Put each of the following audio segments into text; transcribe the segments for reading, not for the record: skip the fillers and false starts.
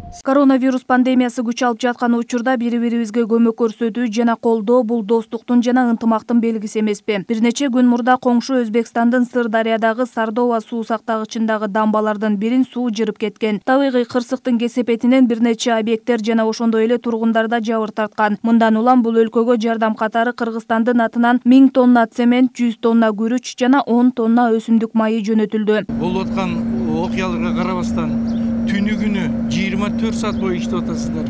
Коронавирус пандемиясы күч алып жаткан учурда бири-бирибизге көмөк көрсөтүү жана колдоо бул достуктун жана ынтымактын белгиси эмеспи? Бир нече күн мурда коңшу Өзбекстандын Сырдарыядагы Сардова суу сактагычындагы дамбалардын бирин суу жырып кеткен. Табигый кырсыктын кесепетинен бир нече объекттер жана ошондой эле тургундар да жабыр тарткан. Мындан улам бул өлкөгө жардам катары Кыргызстандын атынан 1000 тонна цемент, 100 тонна күрүч жана 10 тонна өсүмдүк майы жөнөтүлдү. Болуп аткан окуяларга карабастан түнү күнү 24 саат бою иштеп атасыздар.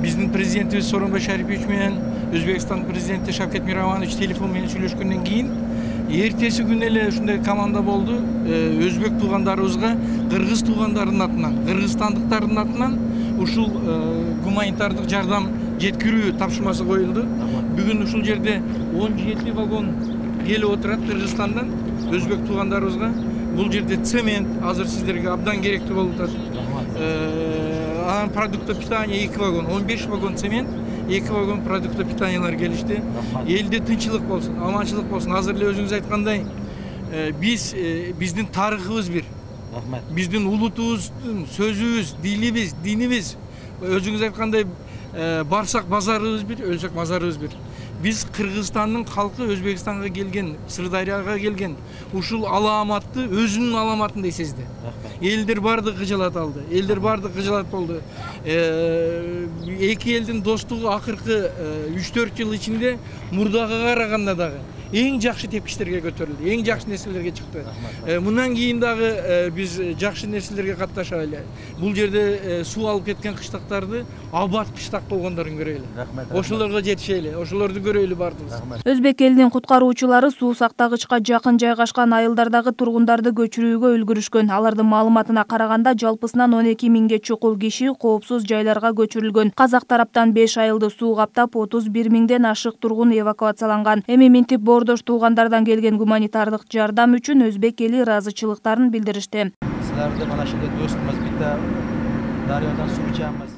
Биздин президентибиз Сооронбай Шарипович менен Өзбекстан президенти Шавкет Мированович телефон менен сүйлөшкөндөн кийин эртеси күнү эле ушундай команда болду. Өзбек туугандарыбызга кыргыз туугандарынын атынан, кыргызстандыктардын атынан ушул гуманитардык жардам жеткирүү тапшырмасы коюлду. Бүгүн ушул жерде 17 вагон келип отурат Кыргызстандан өзбек туугандарыбызга. Бул жерде цемент азыр сиздерге абдан керектүү болуп атат. Анан продукты питания 2 вагон, 15 вагон цемент, 2 вагон продукты питаниялар келишти. Элде тынччылык болсун, аманчылык болсун. Азыр эле өзүңүз айткандай, биздин тарыхыбыз бир. Биздин улутубуздун сөзүбүз, дилибиз, динибиз. Өзүңүз айткандай, барсак базарыбыз бир, өлсөк мазарыбыз бир. Биз Кыргызстандын калкы Өзбекстанга келген, Сырдарыяга келген ушул аламатты өзүнүн аламатындай сезди. Элдер бардыгы кыжалат алды, элдер бардыгы кыжалат болду. Эки элдин достугу акыркы 3-4 жыл ичинде мурдага караганда дагы эң жакшы тепкичтерге көтөрүлдү, эң жакшы нерселерге чыкты. Мындан кийин дагы биз жакшы нерселерге катташалы. Бул жерде суу алып кеткен кыштактарды абат кыштак болгондорун көрөлү. Ошолорго жетишели, ошолорду көрөлү бардыгыбыз. Өзбек элинин куткаруучулары суу сактагычка жакын жайгашкан айылдардагы тургундарды көчүрүүгө үлгүрүшкөн. Алардын маалыматына караганда жалпысынан 12 миңге чукул киши коопсуз жайларга көчүрүлгөн. Казак тараптан 5 айылды суу каптап, 31 миңден ашык тургун эвакуацияланган. Эми минтип боордош туугандардан келген гуманитардык жардам үчүн өзбек эли ыраазычылыктарын билдиришти. Силерди мына ушундай достумуз бите дарыядан суу ичабыз.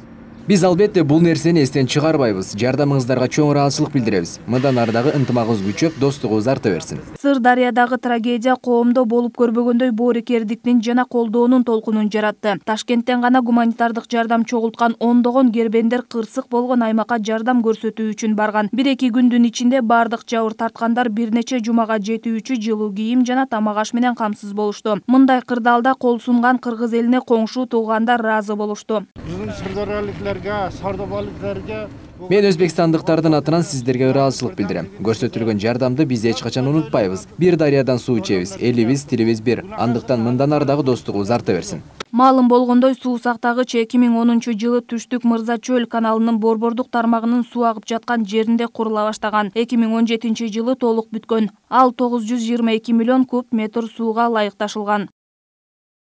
Биз албетте бул нерсени эстен чыгарбайбыз. Жардамыңыздарга чоң ыраазычылык билдиребиз. Мындан ары дагы ынтымагыбыз күчөп, достугубуз арта берсин. Сырдарыядагы трагедия коомдо болуп көрбөгөндөй боорукердиктин жана колдоонун толкунун жаратты. Ташкенттен гана гуманитардык жардам чогулткан ондогон кербендер кырсык болгон аймакка жардам көрсөтүү үчүн барган. 1-2 күндүн ичинде бардык жабыр тарткандар бир нече жумага жетүүчү жылуу кийим жана тамак аш менен камсыз болушту. Мындай кырдаалда кол сунган кыргыз элине коңшу туугандар ыраазы болушту. Мен өзбекстандыктардын атынан сиздерге ыраазычылык билдирем. Көрсөтүлгөн жардамды биз эч качан унутпайбыз. Бир дарыядан суу ичебиз, элибиз, тилибиз бир. Андыктан мындан ары дагы достугубуз арта берсин. Маалым болгондой, суу сактагыч 2010-жылы Түштүк Мырза чөл каналынын борбордук тармагынын суу агып жаткан жеринде курула баштаган. 2017-жылы толук бүткөн. Ал 922 миллион куб метр сууга ылайыкташылган.